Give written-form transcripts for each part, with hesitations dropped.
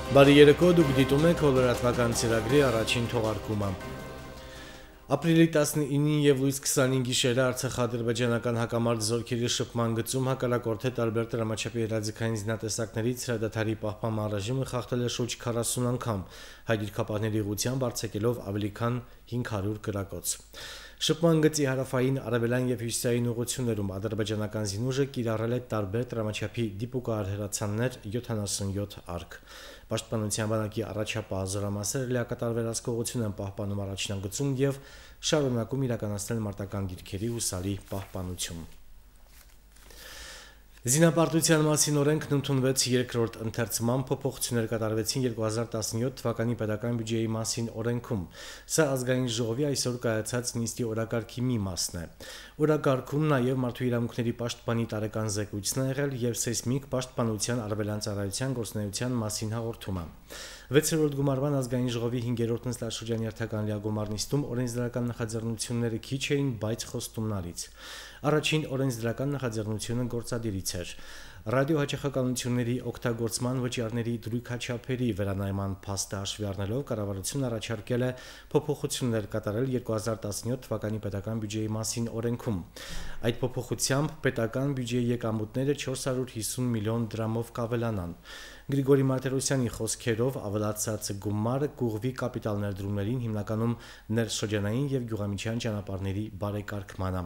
Բարի երեկո, դուք դիտում եք հոլորատվական ծրագրի առաջին թողարկումը։ Ապրիլի 19-ին եւ լույս 25-ի գիշերը արցախա-ադրբեջանական հակամարտ զորքերի շփման գծում հակառակորդի տարբեր դրամաչափի հրաձգային զինատեսակներից հրադադարի պահպանման ռեժիմը խախտել է շուրջ 40 անգամ, հայ-դիրքապահների ուղղությամբ արձակելով ավելի քան 500 կրակոց։ Շփման գծի հարավային, արևելյան եւ հյուսիսային ուղղություններում ադրբեջանական զինուժը կիրառել է տարբեր դրամաչափի դիպուկահար հրացաններ 77 արկ։ Պաշտպանության բանակի առաջապահ զորամասերը լիակատար վերահսկողություն են պահպանում առաջնագծում եւ շարունակում իրականացնել մարտական դիրքերի հուսալի պահպանություն։ Զինապարտության մասին օրենքն ընդունվեց երկրորդ ընթերցման, փոփոխություններ կատարվեցին 2017 թվականի պետական բյուջեի մասին օրենքում։ Սա ազգային ժողովի այսօր կայացած նիստի օրակարգի մի մասն է։ Օրակարգում նաև մարդու իրավունքների պաշտպանի տարեկան զեկույցն է եղել եւ սեյսմիկ պաշտպանության արևելյան ծառայության գործունեության մասին հաղորդումը։ 6-րդ գումարման ազգային ժողովի 5-րդ նստաշրջանի հերթական լիագումար նիստում օրենսդրական նախաձեռնությունները քիչ էին, բայց խոստումնալից։ Առաջին օրենսդրական նախաձեռնությունը գործադիրից էր։ Ռադիոհաճախականությունների օգտագործման վճարների դրույքաչափերի վերանայման փաստը հաշվի առնելով կառավարությունն առաջարկել է փոփոխություններ կատարել 2017 թվականի պետական բյուջեի մասին օրենքում։ Այդ փոփոխությամբ պետական բյուջեի եկամուտները 450 միլիոն դրամով կավելանան։ Գրիգորի Մարտիրոսյանի խոսքերով ավելացած գումարը կուղղվի կապիտալ ներդրումներին, հիմնականում ներշրջանային եւ գյուղամիջյան ճանապարհների բարեկարգմանը։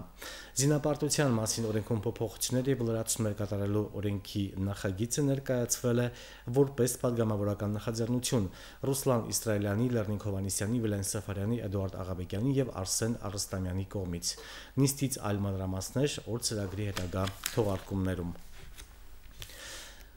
Զինապարտության մասին օրենքում փոփոխություններ եւ լրացումներ կատարելու օրենքի նախագիծը ներկայացվել է որպես падգամավորական նախաձեռնություն Ռուսլան Իսրայելյանի, Լեռնիկ Հովհաննիսյանի, Վիլեն Սաֆարյանի, Էդուարդ Աղաբեկյանի եւ Արսեն Արստամյանի կողմից։ Նիստից այլ մանրամասներ օր ծրագրի հետագա թողարկումներում։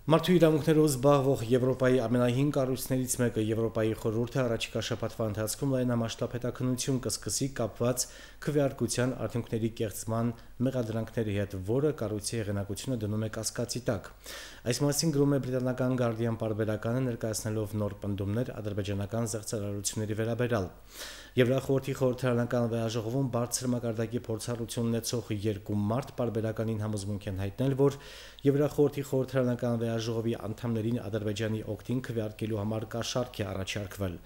Մարդու իրավունքներով զբաղվող Եվրոպայի ամենահին կառույցներից մեկը Եվրոպայի խորհուրդը առաջիկա շաբաթվա ընթացքում լայնամասշտաբ հետաքննություն կսկսի կապված քվեարկության արդյունքների կեղծման մեղադրանքների հետ, որը կառույցի հեղինակությունը դնում է կասկածի տակ։ Այս մասին գրում է բրիտանական Guardian պարբերականը ներկայացնելով նոր պնդումներ ադրբեջանական զեղծարարությունների վերաբերյալ։ Եվրախորհրդի խորհրդարանական վեաժողովում բարձր մակարդակի փորձառություն ունեցող երկու մարդ պարբերականին համոզմունք են հայտնել, որ Եվրախորհրդի խորհրդարանական վեաժողովի անդամներին Ադրբեջանի օգտին քվեարկելու համար կաշառք է առաջարկվել։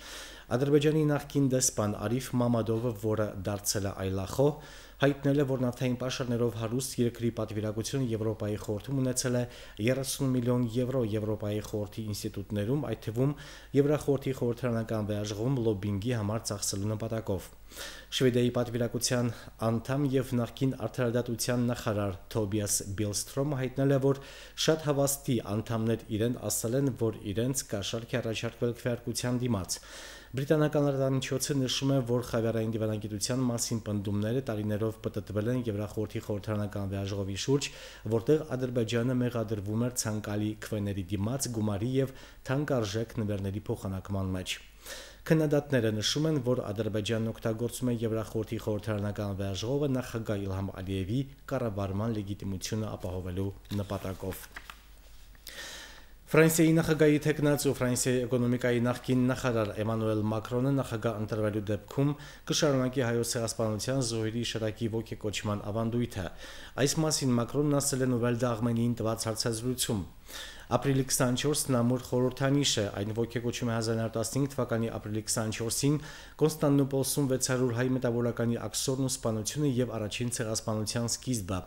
Ադրբեջանի նախկին դեսպան Արիֆ Մամադովը, որը դարձել է այլախոհ, հայտնել է, որ նավթային պաշարներով հարուստ երկրի պատվիրակությունը Եվրոպայի խորհրդում ունեցել է 30 միլիոն եվրո Եվրոպայի խորհրդի ինստիտուտներում, այդ թվում Եվրախորհրդի խորհրդարանական վեաժողովում լոբբինգի համար ծախսելու նպատակով։ Շվեդիայի պատվիրակության անդամ եւ նախկին արդարադատության նախարար Թոբիաս Բիլստրոմը հայտնել է, որ շատ հավաստի անդամներ իրեն ասել են, որ իրենց կաշառք է առաջարկվել քվեարկության դիմաց։ Բրիտանական լրատվամիջոցը նշում է, որ խավիարային դիվանագիտության մասին պնդումները տարիներով պտտվել են Եվրախորհրդի խորհրդարանական վեաժողովի շուրջ, որտեղ Ադրբեջանը մեղադրվում էր ցանկալի քվեների դիմաց գումարի եւ թանկարժեք նվերների փոխանակման մեջ։ Քննադատները նշում են, որ Ադրբեջանն օգտագործում է Եվրախորհրդի խորհրդարանական վեաժողովը նախագահ Իլհամ Ալիևի կառավարման լեգիտիմությունը ապահովելու նպատակով։ Ֆրանսիայի նախագահի թեկնածու Ֆրանսիայի էկոնոմիկայի նախկին նախարար Էմանուել Մակրոնը նախագահ ընտրվելու դեպքում կշարունակի հայոց ցեղասպանության զոհերի շարակի ոգեկոչման ավանդույթը։ Այս մասին Մակրոնն ասել է Նովել դաղմենին տված հարցազրույցում։ Ապրիլի 24-ն ամուր խորհրդանիշ է, այն ոգեկոչում է 1915 թվականի ապրիլի 24-ին Կոնստանդնուպոլսում 600 հայ մտավորականի աքսորն ու սպանությունը եւ առաջին ցեղասպանության սկիզբը։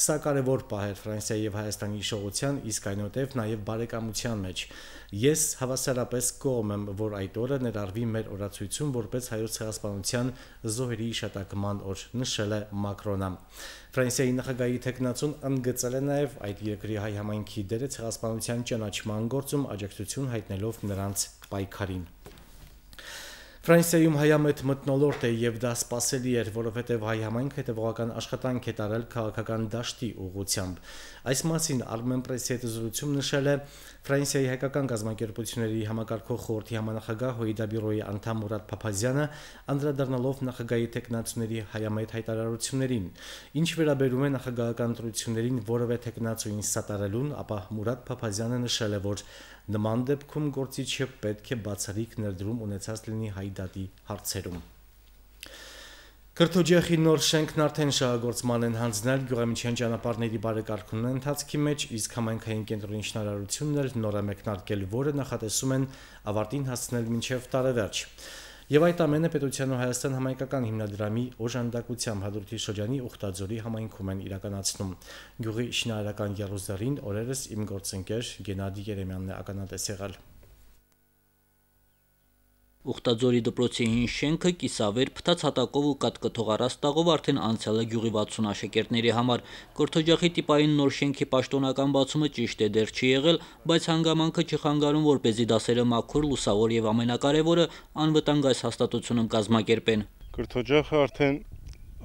Սա կարևոր պահ էր Ֆրանսիայի եւ Հայաստանի իշխողության, իսկ այնուհետեւ նաեւ բարեկամության մեջ։ Ես հավասարապես կողմ եմ, որ այդ օրը ներառվի մեր օրացույցում որպես հայոց ցեղասպանության զոհերի հիշատակման օր, նշել է Մակրոնը։ Ֆրանսիայի նախագահի թեկնածուն ընդգծել է նաև այդ երկրի հայ համայնքի դերը ցեղասպանության ճանաչման գործում, աջակցություն հայտնելով նրանց պայքարին։ Ֆրանսիայում հայամետ մթնոլորտ է եւ դա սպասելի էր, որովհետեւ հայ համայնքը հետեւողական աշխատանք է տարել քաղաքական դաշտի ուղղությամբ։ Այս մասին Armen Press-ի հետ զրույցում նշել է Ֆրանսիայի հայկական կազմակերպությունների համակարգող խորհրդի համանախագահ Հոիդա բյուրոյի անդամ Մուրադ Փափազյանը, անդրադառնալով նախագահի տեխնացուների հայամետ հայտարարություններին։ Ինչ վերաբերում է նախագահական ընտրություններին որևէ տեխնացուին սատարելուն, ապա Մուրադ Փափազյանը նշել է, որ Նման դեպքում գործիչը պետք է բացառիկ ներդրում ունեցած լինի հայդատի հարցերում։ Կրթօջախի նոր շենքն արդեն շահագործման են հանձնել, գյուղամիջյան ճանապարհների բարեկարգումն ընթացքի մեջ, իսկ համայնքային կենտրոնի շինարարությունն էլ նոր է մեկնարկել, որը նախատեսում են ավարտին հասցնել մինչև տարեվերջ։ Եվ այդ ամենը Պետության ու Հայաստան համայնքական հիմնադրամի օժանդակությամբ Հադրութի շրջանի Ուխտաձորի համայնքում են իրականացնում։ Գյուղի շինարարական եռուզեռին օրերս իմ գործընկեր Գենադի Երեմյանն է ականատես եղել։ Ուխտաձորի դպրոցի հին շենքը կիսավեր, փտած հատակով ու կատկթող առաստաղով արդեն անցել է գյուղի 60 աշակերտների համար։ Կրթօջախի տիպային նոր շենքի պաշտոնական բացումը ճիշտ է դեռ չի եղել, բայց հանգամանքը չխանգարում, որպեսզի դասերը մաքուր, լուսավոր եւ ամենակարևորը անվտանգ այս հաստատությունում կազմակերպեն։ Կրթօջախը արդեն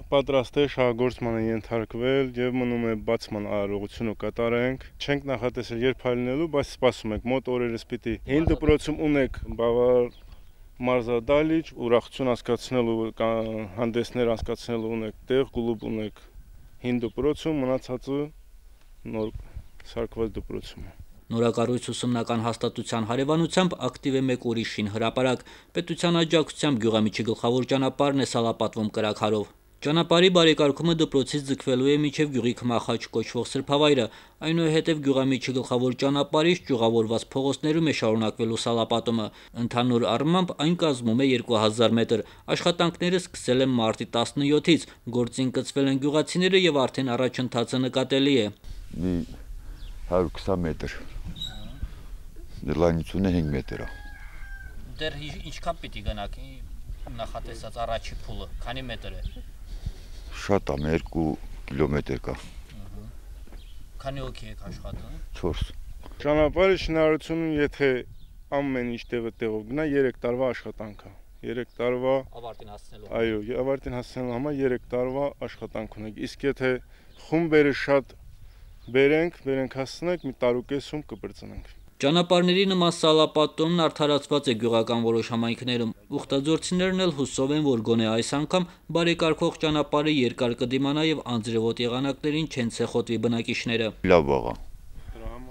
պատրաստ է, շահագործման է ենթարկվել եւ մնում է բացման արարողությունը կատարենք։ Չենք նախատեսել երբ հայտնելու, բայց սպասում ենք մոտ օրերս պիտի հին դպրոցում ունենք բավարար մարզադահլիճ, ուրախություն անցկացնելու, հանդեսներ անցկացնելու ունեք տեղ, կլուբ ունեք հին դպրոցում, մնացածը նոր սարքված դպրոցում։ Նորակառույց ուսումնական հաստատության հարևանությամբ ակտիվ է մեկ ուրիշ շին հրապարակ։ Պետության աջակցությամբ գյուղամիջի գլխավոր ճանապարհն է սալապատվում կրակարով։ Ճանապարհի բարեկարգումը դպրոցից ձգվելու է մինչև գյուղի Քմախաչ կոչվող սրբավայրը, այնուհետև գյուղամիջի գլխավոր ճանապարհից ճյուղավորված փողոցներում է շարունակվելու սալապատումը։ Ընդհանուր առմամբ այն կազմում է 2000 մետր։ Աշխատանքները սկսել են մարտի 17-ից, գործին կցվել են գյուղացիները եւ արդեն առաջընթացը նկատելի է։ 120 մետր։ Լայնությունը 5 մետր է։ Դեռ ինչքան պիտի գնաք նախատեսած առաջի փուլը, քանի մետր է։ Շատ է, 2 կիլոմետր կա։ Քանի հոգի եք աշխատում։ 4։ Ճանապարհի շինարարությունում եթե ամեն ինչ տեղով գնա 3 տարվա աշխատանք է։ 3 տարվա ավարտին հասնելու։ Այո, ավարտին հասնելու համար 3 տարվա աշխատանք ունենք։ Իսկ եթե խումբերը շատ բերենք հասնենք, մի տարուկեսում կբրծնենք։ Ճանապարհների նման սալապատումն արդարացված է գյուղական որոշ համայնքներում։ Ուխտաձորցիներն էլ հուսով են, որ գոնե այս անգամ բարեկարգող ճանապարհը երկար կդիմանա եւ անձրևոտ եղանակներին չեն ցեխոտվի բնակիչները։ Լավ աղա։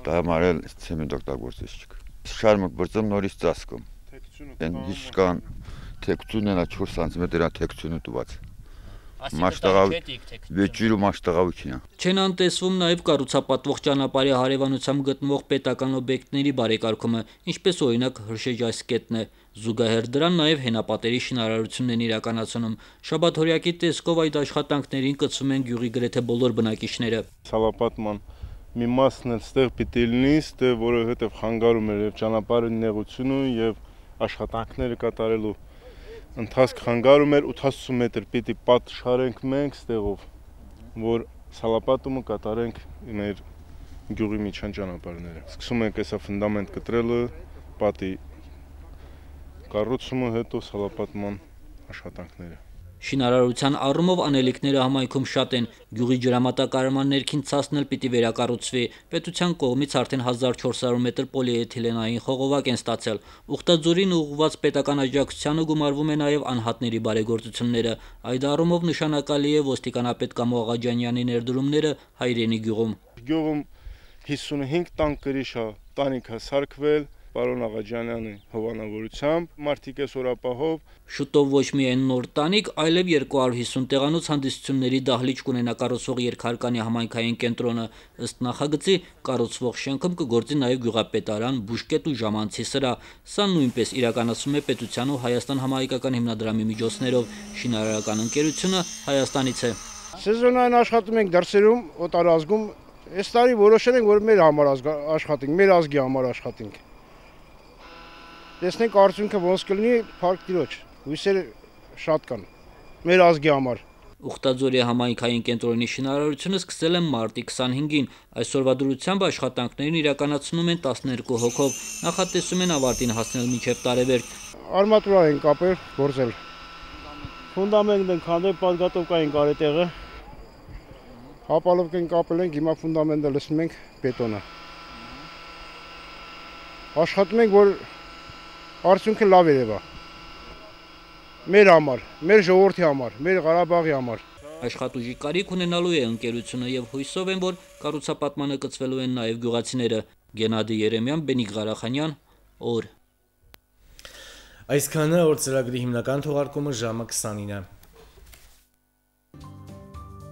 Դա համար էլ ցեմենտ օգտագործես չկա։ Շարմուկ բրծում նորից ծածկում։ Ինչ կան թեկցունն է 4 սանտիմետր թեկցունը տված։ Վեճիրու մաշտաղավիքին է։ Չեն անտեսվում նաև կառուցապատվող ճանապարհի հարևանությամբ գտնվող պետական օբյեկտների բարեկարգումը, ինչպես օրինակ Հրշեջայսկետն է։ Զուգահեռ դրան նաև հենապատերի շինարարությունն են իրականացնում։ Շաբաթօրյակի տեսքով այդ աշխատանքներին կցվում են գյուղի գրեթե բոլոր բնակիչները։ Սալապատման մի մասն էլ ստեղ պիտի լինի, ստեղ որովհետև խանգարում էր եւ ճանապարհի նեղությունը եւ աշխատանքները կատարելու ընթացք խանգարում էր 80 մետր պիտի պատ շարենք մենք ստեղով, որ սալապատումը կատարենք մեր գյուղի միջան ճանապարհները։ Սկսում ենք հեսա ֆունդամենտ կտրելը, պատի կառուցումը, հետո սալապատման աշխատանքները։ Շինարարության առումով անելիքները համայնքում շատ են։ Գյուղի ջրամատակարարման ներքին ցասն էլ պիտի վերակառուցվի։ Պետության կողմից արդեն 1400 մետր պոլիէթիլենային խողովակ են ստացել։ Ուխտաձորին ուղղված պետական աջակցությանը գումարվում է նաև անհատների բարեգործությունները։ Այդ առումով նշանակալի է ոստիկանապետ Կամո Աղաջանյանի ներդրումները Հայրենի գյուղում։ Գյուղում 55 տան կրիշա տանիք է սարքվել պարոն Աղաջանյանի հովանավորությամբ, մարդիկ է սորապահով։ Շուտով ոչ միայն նոր տանիք, այլև 250 տեղանոց հանդիսությունների դահլիճ կունենա կառուցվող Երկհարկանի համայնքային կենտրոնը։ Ըստ նախագծի կառուցվող շենքում կգործի նաև գյուղապետարան, բուժկետ ու ժամանցի սրահ։ Սա նույնպես իրականացում է Պետության ու Հայաստան համայնքական հիմնադրամի միջոցներով։ Շինարարական ընկերությունը Հայաստանից է։ Սեզոնային աշխատում ենք դրսերում, օտարազգում։ Այս տարի որոշել ենք, որ մեր համար աշխատենք, մեր ազգի համար աշխատենք։ Տեսնենք արդյունքը ոնց կլինի, փառք Տիրոջ, հույսերը շատ կան մեր ազգի համար։ Ուխտաձորի համայնքային կենտրոնի շինարարությունը սկսել են մարտի 25-ին։ Այսօրվա դրությամբ աշխատանքներն իրականացնում են 12 հոգով։ Նախատեսում են ավարտին հասնել մինչև տարեվերջ։ Արմատուրա են կապել, գործել։ Ֆունդամենտ են քանդել, պատգատովկա են կարել տեղը։ Հապալովք են կապել ենք, հիմա ֆունդամենտը լցնում ենք բետոնը։ Աշխատում ենք, որ արդյունքը լավ երևա։ Մեր համար, մեր ժողովրդի համար, մեր Ղարաբաղի համար։ Աշխատուժի կարիք ունենալու է ընկերությունը եւ հույսով են, որ կառուցապատմանը կցվելու են նաեւ գյուղացիները։ Գենադի Երեմյան, Բենիկ Ղարախանյան, օր։ Այսքանը օր ծրագրի հիմնական թողարկումը ժամը 29-ը։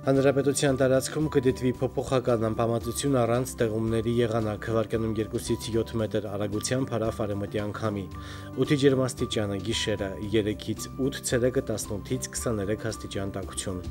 Հանրապետության տարածքում կդիտվի փոփոխական անբավարարություն առանց տեղումների եղանակ, վարկյանում 2-ից 7 մետր արագությամբ հարավ արևմտյան քամի։ Օդի ջերմաստիճանը՝ գիշերը 3-ից 8, ցերեկը 18-ից 23 աստիճան տաքություն։